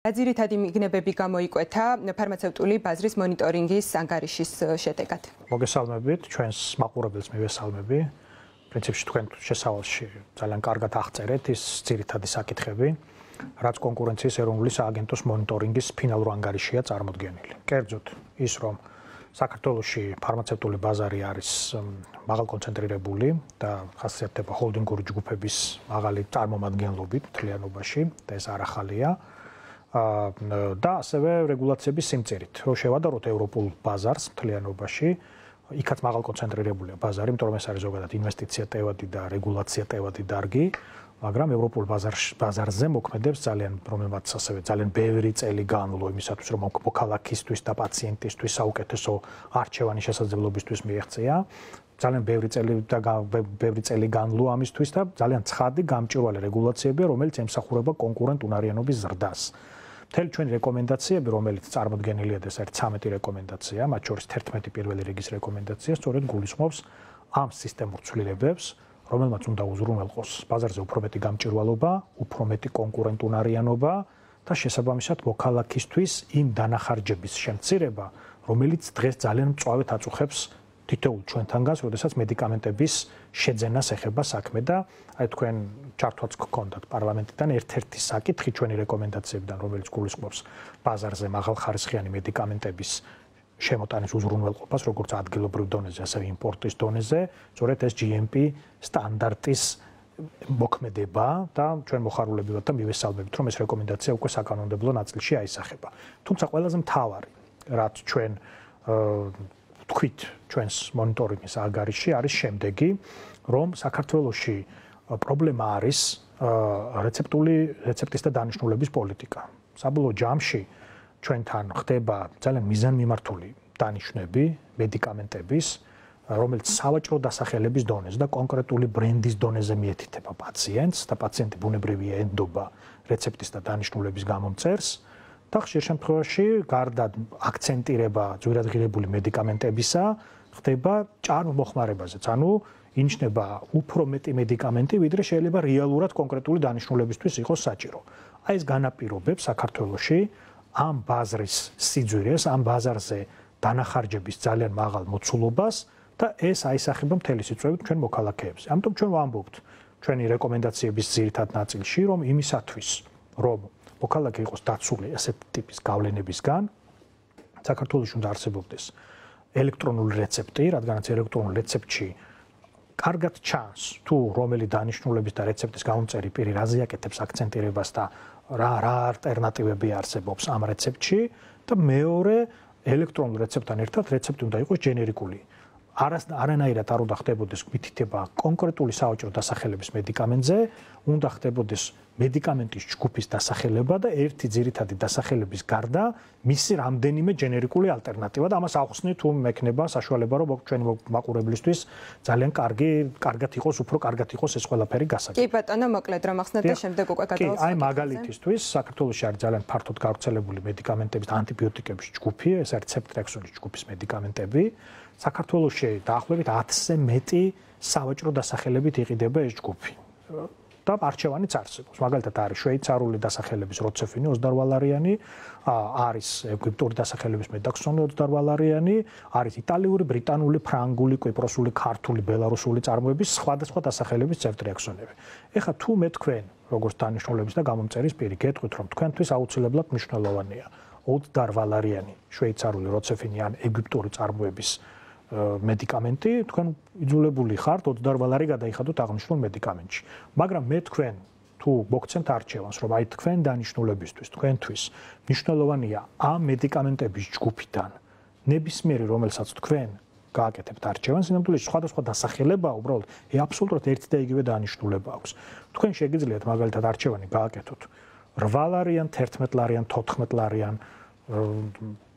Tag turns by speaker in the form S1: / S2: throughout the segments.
S1: ძირითადი მიგნებები გამოიკვეთა ფარმაცევტული ბაზრის მონიტორინგის ანგარიშის შედეგად.
S2: მოგესალმებით, ჩვენს მაყურებელს მივესალმები. პრინციპში თქვენ შესავალში ძალიან კარგად აღწერეთ ის ძირითადი საკითხები, რაც კონკურენციის ეროვნული სააგენტოს მონიტორინგის ფინალურ ანგარიშია წარმოდგენილი. კერძოდ ის, რომ საქართველოში ფარმაცევტული ბაზარი არის მაღალკონცენტრირებული და ხასიათდება ჰოლდინგური ჯგუფების მაღალი წარმომადგენლობით მთლიანობაში და ეს არ ახალია. და ასევე რეგულაციების სიმწირით, რომ შევადაროთ ევროპულ ბაზარს მთლიანობაში, იქაც მაღალკონცენტრირებულია ბაზარი, იმიტომ რომ ეს არის ზოგადად ინვესტიცია ტევადი და რეგულაცია ტევადი დარგი, მაგრამ ევროპულ ბაზარზე მოქმედებს რომელმაც ასევე ძალიან ბევრი წელი განვლო იმისათვის, რომ მოქალაქისთვის და პაციენტისთვის საუკეთესო არჩევანი შესაძლებლობისთვის მიეღწია. ძალიან ბევრი წელი განვლო ამისთვის და ძალიან ცხადი გამჭვირვალე რეგულაციებია, რომელიც ემსახურება კონკურენტ უნარიანობის ზრდას. მთელი ჩვენი რეკომენდაციები, რომელიც წარმოდგენილია და ეს არის 13 რეკომენდაცია, მათ შორის 11 პირველი რიგის რეკომენდაცია, სწორედ გულისხმობს ამ სისტემურ ცვლილებებს, რომელმაც უნდა უზრუნველყოს ბაზარზე უფრო მეტი გამჭვირვალობა, უფრო მეტი კონკურენტ უნარიანობა და შესაბამისად მოქალაქისთვის იმ დანახარჯების შემცირება, რომელიც დღეს ძალიან მწვავედ აწუხებს თითოეულ ჩვენთანგანს, როდესაც მედიკამენტების შეძენას ეხება საქმე და აი თქვენ ჩართვაც გქონდათ პარლამენტიდან ერთ-ერთი საკითხი ჩვენი რეკომენდაციებიდან, რომელიც გულისხმობს ბაზარზე მაღალხარისხიანი მედიკამენტების შემოტანის უზრუნველყოფას, როგორც ადგილობრივ დონეზე, ასევე იმპორტის დონეზე, სწორედ ეს GMP სტანდარტის მოქმედება და ჩვენ მოხარულები ვართ და მივესალმებით, რომ ეს რეკომენდაცია უკვე საკანონმდებლო ნაწილში აისახება. თუმცა ყველაზე მთავარი, რაც ჩვენ თქვით ჩვენს მონიტორინგის ანგარიში არის შემდეგი, რომ საქართველოში პრობლემა არის რეცეპტის და დანიშნულების პოლიტიკა. საბოლოო ჯამში ჩვენთან ხდება ძალიან მიზანმიმართული დანიშვნები მედიკამენტების, რომელიც სავაჭრო დასახელების დონეზე და კონკრეტული ბრენდის დონეზე მიეთითება პაციენტს და პაციენტი ბუნებრივია ენდობა რეცეპტის და დანიშნულების გამომწერს. და ხშირ შემთხვევაში გარდა აქცენტირება ძვირადღირებული მედიკამენტებისა ხდება ჭარბმოხმარებაზეც, ანუ ინიშნება უფრო მეტი მედიკამენტი, ვიდრე შეიძლება რეალურად კონკრეტული დანიშნულებისთვის იყოს საჭირო. აი ეს განაპირობებს საქართველოში ამ ბაზრის სიძვირეს, ამ ბაზარზე დანახარჯების ძალიან მაღალ მოცულობას და ეს აისახება მთელი სიწვევით ჩვენ მოქალაქეებს. ამიტომ ჩვენ ვამბობთ ჩვენი რეკომენდაციების ძირითად ნაწილში, რომ იმისათვის, რომ მოქალაქე იყოს დაცული ასეთ ტიპის გავლენებისგან, საქართველოში უნდა არსებობდეს ელექტრონული რეცეპტი, რადგანაც ელექტრონულ რეცეპტში კარგად ჩანს თუ რომელი დანიშნულების და რეცეპტის გამომწერი პირი რაზე აკეთებს აქცენტირებას და რა ალტერნატივები არსებობს ამ რეცეპტში და მეორე ელექტრონულ რეცეპტთან ერთად რეცეპტი უნდა იყოს ჯენერიკული. არანაირად არ უნდა ხდებოდეს მითითება კონკრეტული სავაჭრო დასახელების მედიკამენტზე, უნდა ხდებოდეს მედიკამენტის ჯგუფის დასახელება და ერთი ძირითადი დასახელების გარდა მისი რამდენიმე ჯენერიკული ალტერნატივა და ამას ახსნით თუ მექნება საშუალება, რომ ჩვენი მაყურებლისთვის ძალიან კარგად იყოს, უფრო კარგად იყოს ეს ყველაფერი გასაგები.
S1: კი ბატონო, მოკლედ რომ ახსნათ და შემდეგ უკვე გადავასვათ.
S2: აი მაგალითისთვის საქართველოში არის ძალიან ფართოდ გავრცელებული მედიკამენტების და ანტიბიოტიკების ჯგუფი, ეს არის ცეპტრექსონის ჯგუფის მედიკამენტები. საქართველოში დაახლოებით 1000-ზე მეტი სავაჭრო დასახელებით იყიდება ეს ჯგუფი. და არჩევანიც არსებობს. მაგალითად არის შვეიცარიული დასახელების როცეფინი 28 ლარიანი, არის ეგვიპტური დასახელების მედაქსონი 28 ლარიანი, არის იტალიური, ბრიტანული, ფრანგული, კვიპროსული, ქართული, ბელარუსული წარმოების სხვადასხვა დასახელების ცეპტრექსონები. ეხლა თუ მე თქვენ, როგორც დანიშნულების და გამომწერის პირი, გეტყვით, რომ თქვენთვის აუცილებლად მნიშვნელოვანია 28 ლარიანი შვეიცარული როცეფინი ან ეგვიპტური წარმოების მედიკამენტი, თქვენ იძულებული ხართ 28 ლარი გადაიხადოთ აღნიშნულ მედიკამენტში. მაგრამ მე თქვენ თუ მოგცემთ არჩევანს, რომ აი თქვენ დანიშნულებისთვის, თქვენთვის მნიშვნელოვანია ამ მედიკამენტების ჯგუფიდან ნებისმიერი, რომელსაც თქვენ გააკეთებთ არჩევანს, იმდენად სხვადასხვა დასახელება უბრალოდ აბსოლუტურად ერთი და იგივე დანიშნულება აქვს. თქვენ შეგიძლიათ მაგალითად არჩევანი გააკეთოთ 8 ლარიან, 11 ლარიან, 14 ლარიან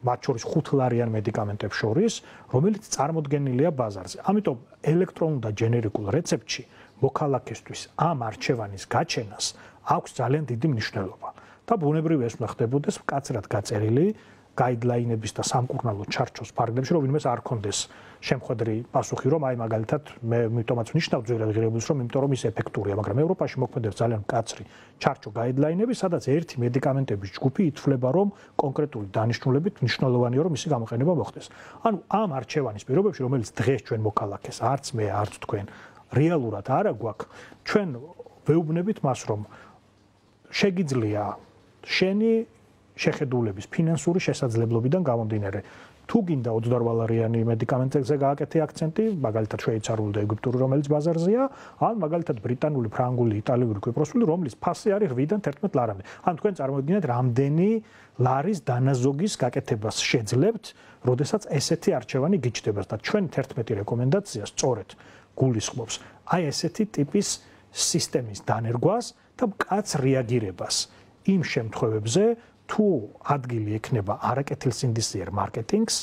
S2: მათ შორის 5 ლარიან მედიკამენტებს შორის, რომელიც წარმოდგენილია ბაზარზე. ამიტომ ელექტრონულ და ჯენერიკულ რეცეპტში მოქალაქესთვის ამ არჩევანის გაჩენას აქვს ძალიან დიდი მნიშვნელობა. და ბუნებრივია ეს უნდა ხდებოდეს მკაცრად გაწერილი გაიდლაინების და სამკურნალო ჩარჩოს ფარგლებში, რომ ვინმეს არ კონდეს შემხედრი პასუხი, რომ აი მაგალითად მე მitomაც ვნიშნავ ძვირად ღირებულს, რომ იმიტომ რომ ის ეფექტურია, მაგრამ ევროპაში მოქმედებს ძალიან მკაცრი ჩარჩო გაიდლაინები, სადაც ერთი მედიკამენტების ჯგუფი ითვლება, რომ კონკრეტული დანიშნულებით მნიშვნელოვანია, რომ მისი გამოყენება მოხდეს. ანუ ამ არჩევანის პირობებში, რომელიც დღეს ჩვენ მოქალაქეს, არც მე, არც თქვენ, რეალურად არა გვაქვს, ჩვენ ვეუბნებით მას, რომ შეგიძლია შენი შეხედულების ფინანსური შესაძლებლობიდან გამომდინარე თუ გინდა 28 დოლარიანი მედიკამენტებზე გააკეთე აქცენტი, მაგალითად შვეიცარიული და ეგვიპტური, რომელიც ბაზარზეა, ან მაგალითად ბრიტანული, ფრანგული, იტალიური, კვიპროსული, რომლის ფასი არის 8-დან 11 ლარამდე. ან თქვენ წარმოგიდგენთ, რამდენი ლარის დანაზოგის გაკეთებას შეძლებთ, როდესაც ესეთი არჩევანი გიჩნდება და ჩვენ 11 რეკომენდაცია სწორედ გულისხმობს აი ესეთი ტიპის სისტემის დანერგვას და მკაც რეაგირებას იმ შემთხვევებზე, თუ ადგილი ექნება არაკეთილსინდისიერ მარკეტინგს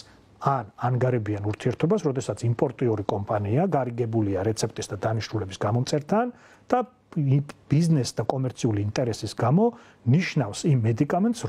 S2: ან ანგარებიან ურთიერთობას, როდესაც იმპორტიორი კომპანია გარიგებულია რეცეპტის და დანიშნულების გამომწერთან და ბიზნეს და კომერციული ინტერესის გამო ნიშნავს იმ მედიკამენტს,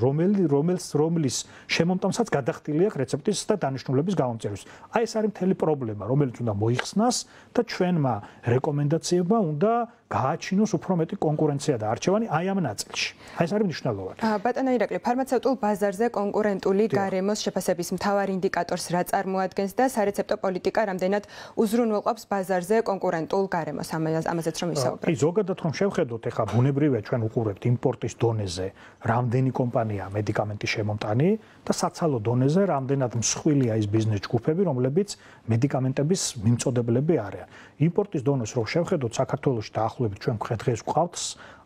S2: რომლის შემომტანსაც გადახდილი აქვს რეცეპტის და დანიშნულების გამომწერვის. აი ეს არის მთელი პრობლემა, რომელიც უნდა მოიხსნას და ჩვენმა რეკომენდაციებმა უნდა გააჩინოს უფრო მეტი კონკურენცია და არჩევანი აი ამ ნაწილში. აი ეს არის მნიშვნელოვანი.
S1: ბატონო ირაკლი, ფარმაცევტულ ბაზარზე კონკურენტული გარემოს შეფასების მთავარ ინდიკატორს რა წარმოადგენს და სარეცეპტო პოლიტიკა რამდენად უზრუნველყოფს ბაზარზე კონკურენტულ გარემოს, ამაზეც რომ ვისაუბროთ.
S2: აი ზოგადად რომ შევხედოთ, ეხლა ბუნებრივია ჩვენ უყურებთ იმპორტის დონეზე რამდენი კომპანია მედიკამენტის შემომტანი და საცალო დონეზე რამდენად მსხვილია ის ბიზნეს ჯგუფები, რომლებიც მედიკამენტების მიმწოდებლები არიან. იმპორტის დონეს რომ შევხედოთ, საქართველოში დაახლოებით ჩვენ დღეს გვყავთ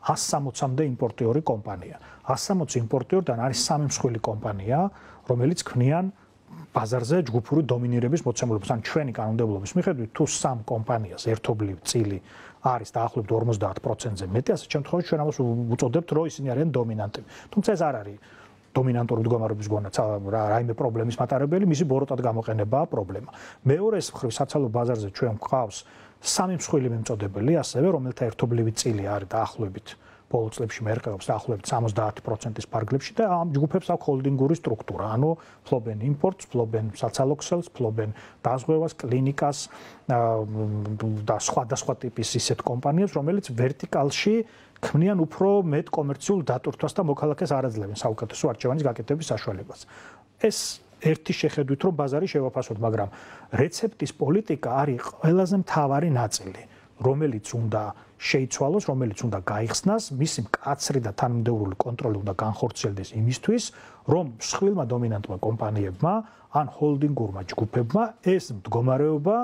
S2: 160-მდე იმპორტიორი კომპანია. 160 იმპორტიორიდან არის 3 მსხვილი კომპანია, რომელიც ქმნიან ბაზარზე ჯგუფური დომინირების მოცემულობას. ან ჩვენი კანონმდებლობის მიხედვით, თუ 3 კომპანიას ერთობლივ წილი არის დაახლოებით 50%-ზე მეტი, ასეთ შემთხვევაში ჩვენ ამას უწოდებთ, რომ ისინი არიან დომინანტები. თუმცა ეს არ არის დომინანტური მდგომარეობის გონაც რაიმე პრობლემის მატარებელი, მისი ბოროტად გამოყენებაა პრობლემა. მეორეს მხრივ საცალო ბაზარზე ჩვენ გვყავს 3 მსხვილი მიმწოდებელი, ასევე რომელთა ერთობლივი წილი არის დაახლოებით ბოლო წლებში მერყეობს დაახლოებით 70%-ის ფარგლებში და ამ ჯგუფებს აქვს ჰოლდინგური სტრუქტურა, ანუ ფლობენ იმპორტს, ფლობენ საცალო ქსელს, ფლობენ დაზღვევას, კლინიკას და სხვადასხვა ტიპის ისეთ კომპანიებს, რომელიც ვერტიკალში ქმნიან უფრო მეტ კომერციულ დატვირთვას და მოქალაქეს არ აძლევენ საუკეთესო არჩევანის გაკეთების საშუალებას. ეს ერთი შეხედვით რომ ბაზარი შევაფასოთ, მაგრამ რეცეპტის პოლიტიკა არის ყველაზე მთავარი ნაწილი, რომელიც უნდა შეიცვალოს, რომელიც უნდა გაიხსნას, მისი მკაცრი და თანმიმდევრული კონტროლი უნდა განხორციელდეს იმისთვის, რომ მსხვილმა დომინანტმა კომპანიებმა ან ჰოლდინგურმა ჯგუფებმა ეს მდგომარეობა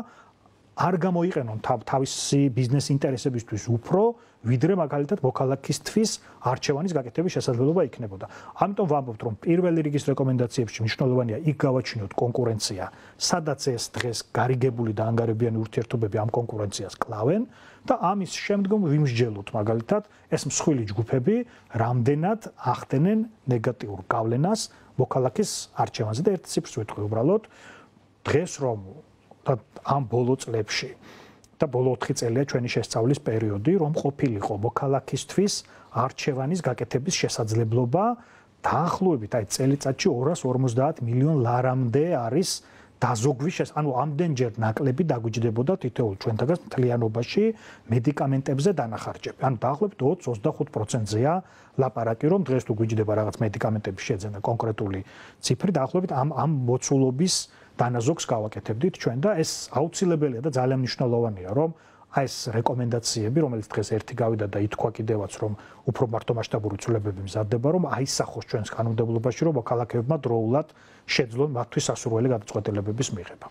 S2: არ გამოიყენონ თავისი ბიზნეს ინტერესებისთვის უფრო, ვიდრე მაგალითად მოქალაქისთვის არჩევანის გაკეთების შესაძლებლობა იქნებოდა. ამიტომ ვამბობთ, რომ პირველი რიგის რეკომენდაციებში მნიშვნელოვანია იქ გავაჩინოთ კონკურენცია, სადაც ეს დღეს გარიგებული და ანგარებიანი ურთიერთობები ამ კონკურენციას კლავენ და ამის შემდგომ ვიმსჯელოთ მაგალითად ეს მსხვილი ჯგუფები რამდენად ახდენენ ნეგატიურ გავლენას მოქალაქის არჩევანზე და ერთ ციფრს ვეთქვი უბრალოდ დღეს რომ და ამ ბოლო წლებში და ბოლო 4 წელია ჩვენი შესწავლის პერიოდი, რომ ყოფილიყო მოქალაქისთვის არჩევანის გაკეთების შესაძლებლობა დაახლოებით აი წელიწადში 250 მილიონ ლარამდე არის დაზოგვის ანუ ამდენჯერ ნაკლები დაგვიჯდებოდა თითოეულ ჩვენთაგან მთლიანობაში მედიკამენტებზე დანახარჯები. ანუ დაახლოებით 20-25%-ზეა ლაპარაკი, რომ დღეს თუ გვიჯდება რაღაც მედიკამენტების შეძენა კონკრეტული ციფრი, დაახლოებით ამ მოცულობის დანაზოგს გავაკეთებდით ჩვენ და ეს აუცილებელია და ძალიან მნიშვნელოვანია, რომ აი ეს რეკომენდაციები, რომელიც დღეს ერთი გავიდა და ითქვა კიდევაც, რომ უფრო მართომასშტაბური ცვლილებები მზადდება, რომ აისახოს ჩვენს კანონმდებლობაში, რომ მოქალაქეებმა დროულად შეძლონ მათთვის სასურველი გადაწყვეტილებების მიღება.